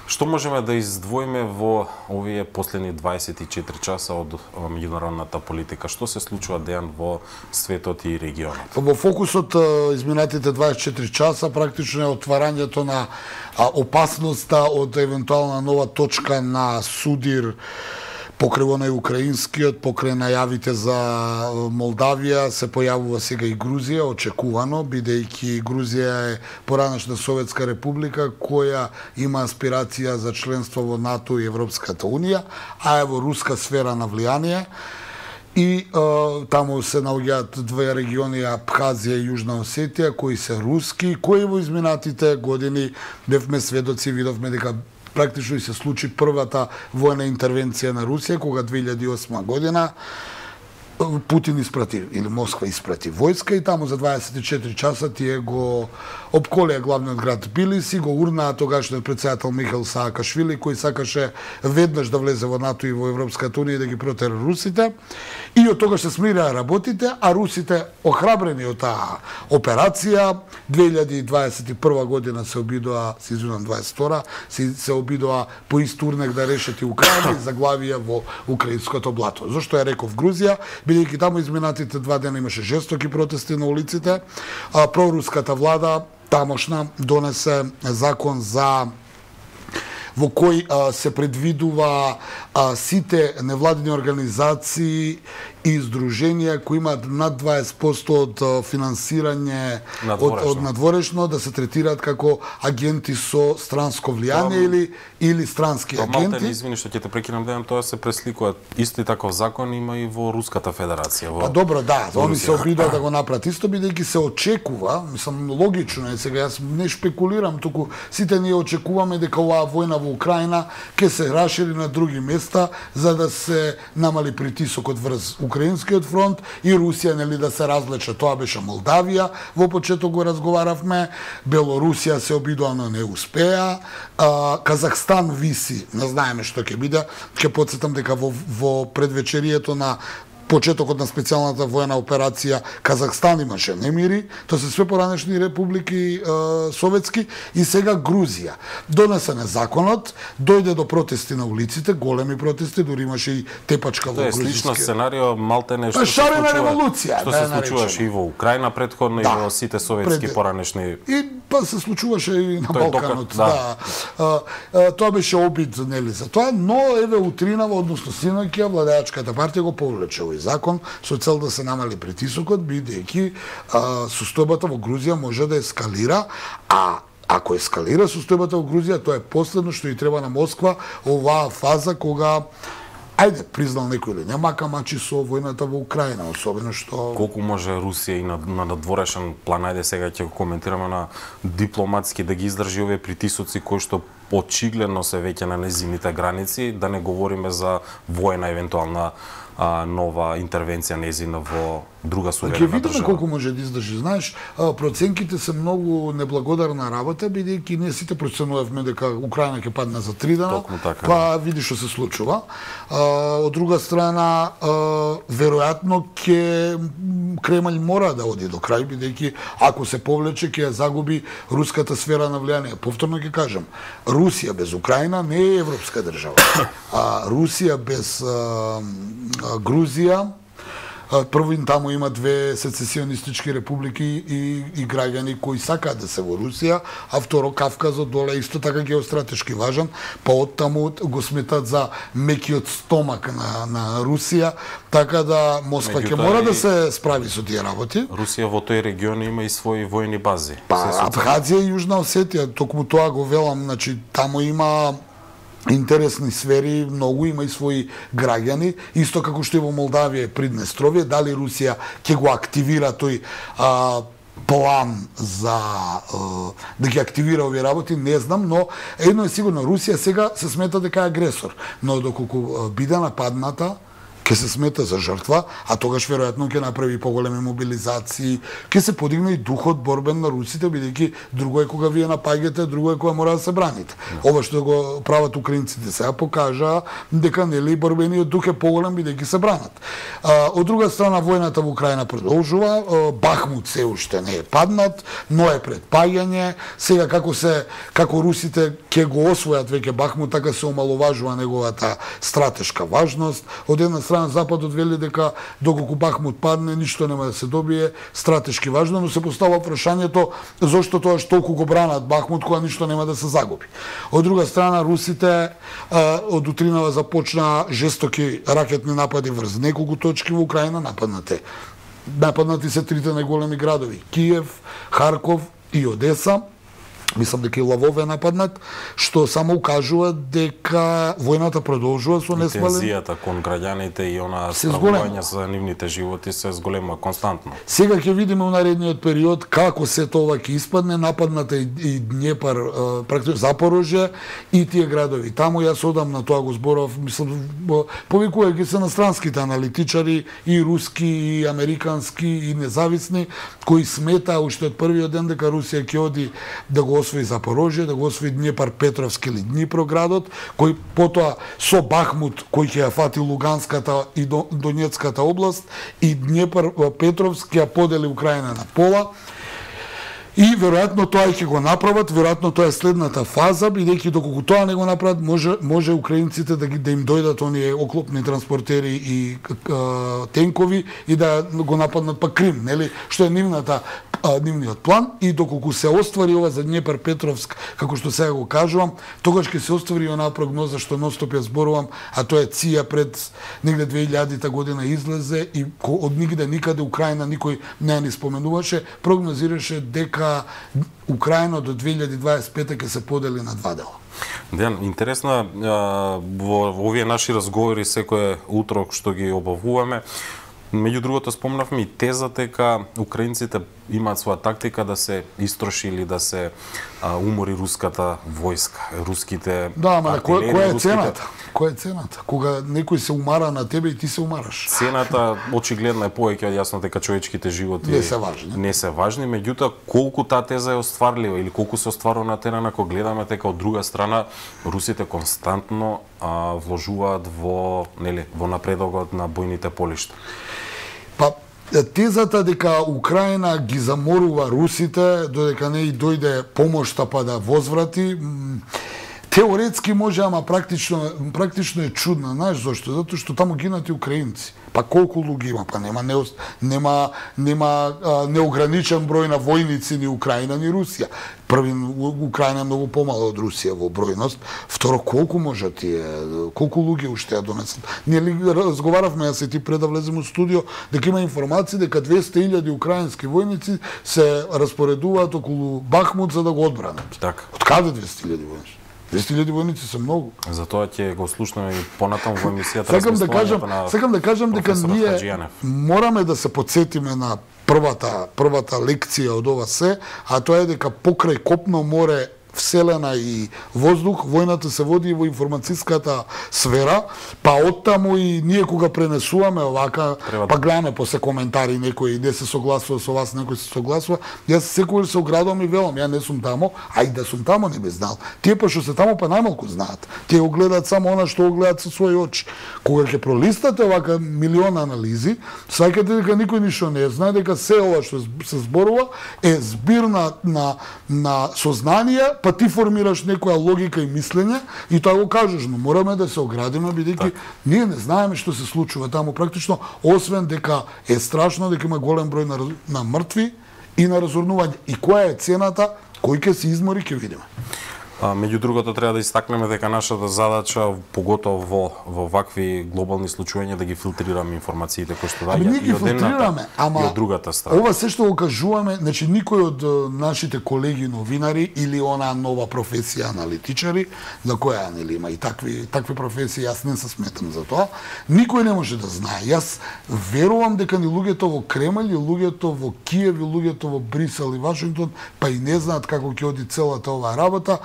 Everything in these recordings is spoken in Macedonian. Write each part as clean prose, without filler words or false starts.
Што можеме да издвоиме во овие последни 24 часа од меѓународната политика? Што се случува, Дејан, во светот и регионот? Во фокусот изминатите 24 часа практично е отварањето на опасноста од евентуална нова точка на судир покрај онај украинскиот, покрај најавите за Молдавија, се појавува сега и Грузија, очекувано, бидејќи Грузија е поранешна Советска република која има аспирација за членство во НАТО и Европската унија, а е во руска сфера на влијание. И таму се наоѓаат две региони, Абхазија и Јужна Осетија, кои се руски, кои во изминатите години бевме сведоци, видовме дека практично и се случи првата војна интервенција на Русија, кога 2008 година Путин испрати, или Москва испрати војска и таму за 24 часа тие го обколеа главниот град Тбилиси, го урнаа тогашниот претседател Михаил Саакашвили, кој сакаше веднаш да влезе во НАТО и во Европската унија и да ги протера русите. И од тогаш се смираа работите, а русите, охрабрени од таа операција, 2021 година се обидоа, се извинувам 22, се обидоа по ист урнек да решат и Украина и заглавија во украинското блато. Зошто ја реков Грузија? Бидејќи таму изминатите 2 дена имаше жестоки протести на улиците, проруската влада тамошна донесе закон во кој се предвидува сите невладини организации и издруженија кои имаат над 20% од финансирање од надворешно да се третираат како агенти со странско влијание или странски агенти. Малтен, извини што ќе те прекинам, Дејан, тоа се пресликува. Исти таков закон има и во Руската федерација. Па добро, да, они се обидоа да го направат исто, бидејќи се очекува, мислам логично е, сега јас не шпекулирам, туку сите ние очекуваме дека оваа војна во Украина ќе се рашири на други места за да се намали притисокот врз Украинскиот фронт и Русија, нели, да се разлече. Тоа беше Молдавија, во почеток го разговаравме, Белорусија се обидоа, но не успеа, Казахстан виси, не знаеме што ќе биде. Ќе потсетам дека во предвечерието на почетокот на специјалната војна операција Казахстан имаше немири, тоа се све поранешни републики советски и сега Грузија. Донесен е законот, дојде до протести на улиците, големи протести, дури имаше и тепачка во грузиски. Тоа е слично сценарио, малтене што шарена револуција, што се случуваше и во Украина претходно и во сите советски поранешни. И па се случуваше и на Балканот, да. Тоа беше обид, нели, за тоа, но еве утринава, односно синоќа, владеачката партија го повлече овој закон со цел да се намали притисокот, бидејќи состојбата во Грузија може да ескалира, а ако ескалира состојбата во Грузија, тоа е последно што и треба на Москва, оваа фаза кога ајде, признал некој или не, мака мачи со војната во Украина, особено што... Колку може Русија и на надворешен план, ајде сега ќе го коментираме на дипломатски, да ги издржи овие притисоци кои што очигледно се веќе на незините граници, да не говориме за војна евентуална нова интервенција незина во друга суверена држава. Ќе видиме колку може да издржи. Знаеш, проценките се многу неблагодарна работа, бидејќи ние сите проценувавме дека Украина ќе падне за 3 дена, па види што се случува. Од друга страна, веројатно Кремљ мора да оди до крај, бидејќи ако се повлече ќе ја загуби руската сфера на влијание. Повторно ќе кажам, Русија без Украина не е европска држава. Русија без Грузија, прво таму има две сецесионистички републики и граѓани кои сакаат да се во Русија, а второ Кавказот доле исто така геостратешки важен, па од таму го сметат за мекиот стомак на Русија, така да Москва ќе мора да се справи со тие работи. Русија во тој регион има и своји војни бази. Па Абхазија и Јужна Осетија, токму тоа го велам, значи таму има интересни сфери, многу има и своји граѓани, исто како што и во Молдавија и Приднестровје. Дали Русија ќе го активира тој план за да ги активира овие работи, не знам, но едно е сигурно, Русија сега се смета дека е агресор, но доколку биде нападната, ќе се смета за жртва, а тогаш веројатно ќе направи поголеми мобилизации, ќе се подигне и духот борбен на русите, бидејќи друго е кога вие напаѓате, друго е кога мора да се браните. Ова што го прават украинците сега покажа дека нели борбениот дух е поголем бидејќи се бранат. Од друга страна војната во Украина продолжува, Бахмут се уште не е паднат, но е пред паѓање. Сега како русите ќе го освојат веќе Бахмут, така се омаловажува неговата стратешка важност. Од една страна Западот вели дека доколку Бахмут падне, ништо нема да се добие стратешки важно, но се постава прашањето зошто тоа што толку го бранат Бахмут кога ништо нема да се загуби. Од друга страна русите од утринава започна жестоки ракетни напади врз неколку точки во Украина, нападнати се трите најголеми градови: Киев, Харков и Одеса. Мислам дека и Лавов е нападнат, што само укажува дека војната продолжува со несмален. Тензијата кон граѓаните и она стравување за нивните животи се зголема константно. Сега ќе видиме во наредниот период како се тоа ќе испадне. Нападната и Днепар, практично Запорожје и тие градови. Таму јас одамна тоа го зборав, мислам, повикувајќи се на странските аналитичари, и руски, и американски, и независни, кои смета уште од првиот ден дека Русија ќе оди да го освои Запорожје, да го освои Днепар Петровски или Днепроградот, кој потоа со Бахмут, кој ќе ја фати Луганската и Донецката област, и Днепар Петровски ја подели Украина на пола. И веројатно тоа ќе го направат, веројатно тоа е следната фаза, бидејќи доколку тоа не го направат, може украинците да им дојдат оние оклопни транспортери и тенкови и да го нападнат па Крим, нели, што е нивниот план. И доколку се оствари ова за Днепар Петровск, како што сега го кажувам, тогаш ќе се оствари онаа прогноза што ностоп ја зборувам, а тоа е ЦИА пред негде 2000 година излезе и од нигде никаде Украина никој не ја ни споменуваше, прогнозираше дека Украина до 2025 ќе се подели на два дела. Дејан, интересно во овие наши разговори секој утрок што ги обавуваме, меѓу другото спомнавме и тезата дека украинците имаат своја тактика да се истроши или да се умори руската војска, руските. Да, ама која е цената? Која е цената? Кога некој се умара на тебе и ти се умараш. Цената очигледно е повеќе од јасно дека човечките животи не се важни, меѓутоа колку таа теза е остварлива или колку се остварува на терен, ако гледаме дека од друга страна русите константно вложуваат во напредокот на бојните полишта. Па тезата дека Украина ги заморува русите додека не и дојде помошта па да возврати, теоретски може, ама практично е чудна. Знаеш зошто? Затоа што таму гинат и украинци. Па колку луѓе има? Па нема неограничен број на војници ни Украина ни Русија. Први, Украина е многу помала од Русија во бројност. Второ, колку може тие, колку луѓе уште ја донесат? Ние разговаравме, јас и ти пред да влезем во студио, дека има информации дека 200.000 украински војници се распоредуваат околу Бахмут за да го одбранат. Така. Од каде 200.000 војници? 200.000 војници се многу. Затоа ќе го слушнеме и понатаму во емисијата. Сакам да кажам дека ние мораме да се потсетиме на првата лекција од ова се, а тоа е дека покрај копно, море, вселена и воздух, војната се води во информацијската сфера, па оттаму и ние кога пренесуваме овака, па гледаме после коментари некој не се согласува со вас, некој се согласува, јас секогаш се оградувам и велам, ја не сум тамо, а и да сум тамо не би знал. Тие па што се тамо па најмалку знаат. Тие го гледаат само она што го гледаат со своји очи. Кога ќе пролистате овака милион анализи, сваќате дека никој ништо не знае, дека се ова што се зборува е збир на сознание, па ти формираш некоја логика и мислење и тоа го кажеш, но мораме да се оградиме бидејќи ние не знаеме што се случува таму практично, освен дека е страшно, дека има голем број на мртви и на разорнување. И која е цената, кој ќе се измори, ќе видиме. Меѓу другото треба да истакнеме дека нашата задача, поготово во вакви глобални случувања, да ги филтрираме информациите кои што доаѓаат и од едната и од другата страна. Ова се што го кажуваме, значи никој од нашите колеги новинари или она нова професија аналитичари, за која нели има и такви професии, јас не се сметам за тоа, никој не може да знае. Јас верувам дека ни луѓето во Кремљ, и луѓето во Киев, и луѓето во Брисел и Вашингтон, па и не знаат како ќе оди целата оваа работа.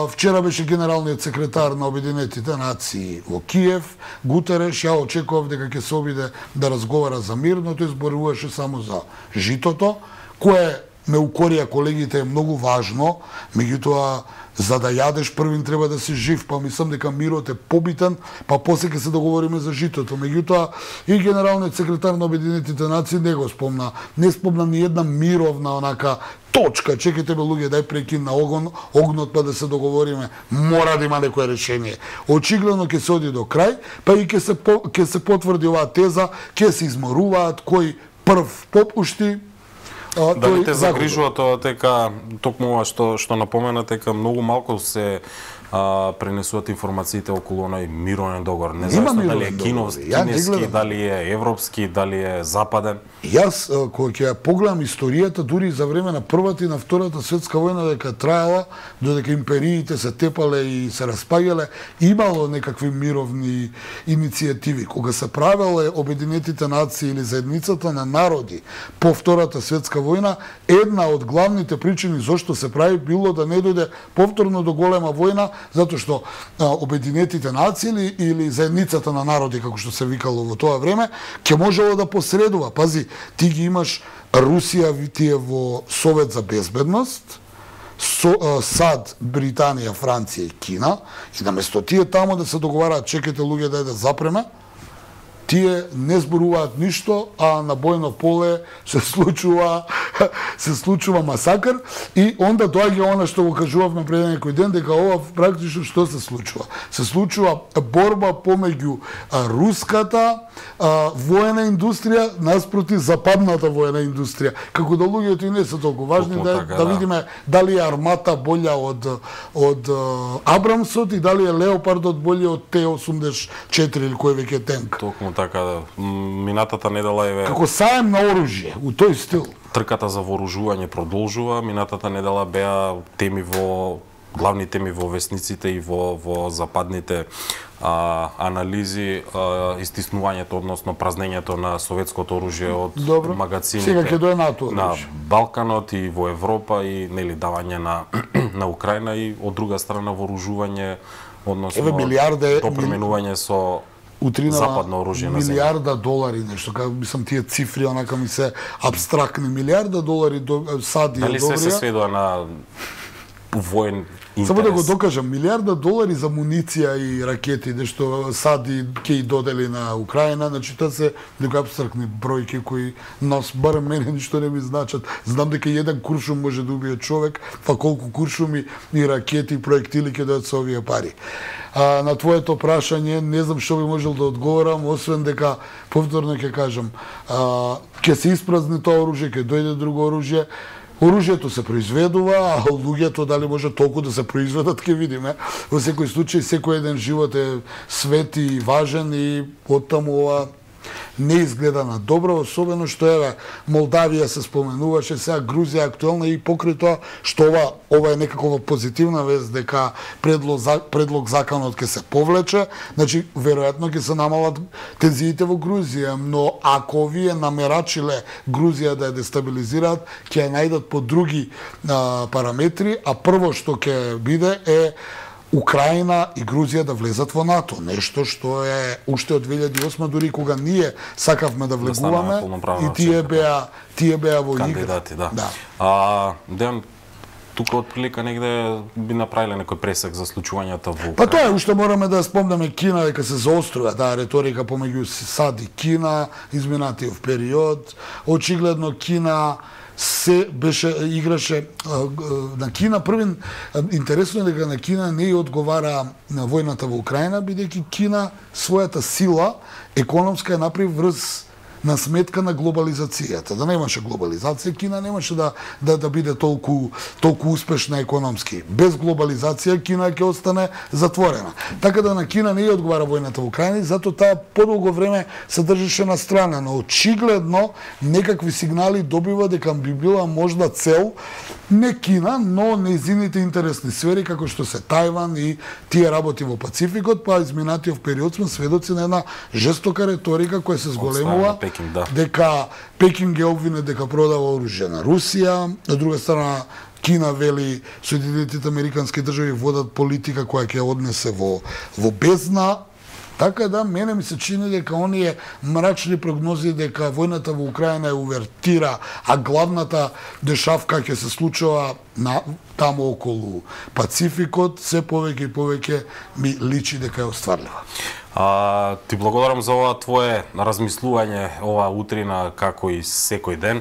Вчера беше генералниот секретар на Обединетите нации во Киев, Гутереш, ја очекував дека ќе се обиде да разговара за мир, но тој зборуваше само за житото, кое ме укорија колегите е многу важно, меѓутоа за да јадеш првин треба да си жив, па мислам дека мирот е побитен, па после ќе се договориме за житото. Меѓутоа и генералниот секретар на Обединетите нации не го спомна, не спомна ни една мировна онака точка, чекайте бе луѓе, дај прекин на огнот па да се договориме, мора да има некое решение. Очигледно ќе се оди до крај, па и ќе се потврди оваа теза, ќе се изморуваат кој прв попушти. Дали те загрижува тоа дека токму ова што напомена дека многу малку се пренесуваат информациите околу оној мировен договор. Не знам дали е кинески, дали е европски, дали е западен. Јас кога ќе ја погледам историјата дури за време на првата и на втората светска војна дека траела, додека империите се тепале и се распаѓале, имало некакви мировни иницијативи. Кога се правеле Обединетите нации или заедницата на народи по втората светска војна, една од главните причини зошто се прави било да не дојде повторно до голема војна, затоа што Обединетите нации или заедницата на народи, како што се викало во тоа време, ќе можело да посредува. Пази, ти ги имаш Русија, ти е во Совет за безбедност, САД, Британија, Франција и Кина, и наместо тие тамо да се договараат, чекайте луѓе да запреме, тие не зборуваат ништо, а на бојно поле се случува масакр и онда доаѓа она што го кажувавме пред некој ден, дека ова практично што се случува? Се случува борба помеѓу руската воена индустрија наспроти западната воена индустрија. Како да луѓето и не се толку важни, да видиме дали е армата болја од Абрамсот и дали е Леопардот болја од Т-84 или кој веќе тенк. Токму така, минатата недела е како саем на оружје, у тој стил. Трката за вооружување продолжува. Минатата недела беа главни теми во весниците и во западните анализи, истиснувањето, односно празнењето на советското оружје од магазините на Балканот и во Европа и нели давање на Украина и од друга страна вооружување, односно допременување со западно оружје на земја. Милиарда долари нешто, како мислам тие цифри онака ми се абстрактни. Милиарда долари САД и дали се сведува на воен интерес? Само да го докажам, милиарда долари за муниција и ракети, што САД ќе и додели на Украина, значи тоа се некои абстрактни бројки кои нас, барем мене, ништо не ми значат. Знам дека еден куршум може да убие човек, па колку куршуми и ракети и проектили ќе дојдат со овие пари. На твоето прашање, не знам што би можел да одговорам, освен дека, повторно ќе кажам, ќе се испразни тоа оружје, ќе дојде друго оружје, оружјето се произведува, а луѓето дали може толку да се произведат, ќе видиме. Во секој случај, секој еден живот е свет и важен и оттаму ова не изгледа на добро, особено што еве Молдавија се споменуваше, сега Грузија актуелна и покрај тоа што ова е некакова позитивна вест дека предлог законот ќе се повлече, значи веројатно ќе се намалат тензиите во Грузија, но ако овие намерачиле Грузија да ја дестабилизираат, ќе ја најдат по други параметри, а прво што ќе биде е Украина и Грузија да влезат во НАТО, нешто што е уште од 2008 дури кога ние сакавме да влегуваме и тие беа во игра. Кандидати, да. Дејан, тука од прилика негде би направиле некој пресек за случувањата во Украина. Па тоа е, уште мораме да спомнеме Кина дека се заострува реторика помеѓу САД и Кина изминатиот период. Очигледно Кина се играше на Кина. Првин, интересно е дека на Кина не ја одговара на војната во Украина, бидејќи Кина својата сила економска ја направи врз на сметка на глобализацијата. Да немаше глобализација, Кина немаше да биде толку успешна економски. Без глобализација Кина ќе остане затворена. Така да на Кина не ја одговара војната во Украина, затоа таа подолго време се држеше на страна, но очигледно некакви сигнали добива дека би била можда цел не Кина, но нејзините интересни сфери како што се Тајван и тие работи во Пацификот, па изминатиот период сме сведоци на една жестока реторика која се зголемува дека Пекинг е обвинет дека продава оружје на Русија, од друга страна Кина вели Соединетите Американски држави водат политика која ќе однесе во бездна. Така да, мене ми се чини дека оние мрачни прогнози дека војната во Украина е увертира, а главната дешавка ќе се случува таму околу Пацификот, се повеќе и повеќе ми личи дека е остварлива. Ти благодарам за ова твое размислување ова утрина, како и секој ден.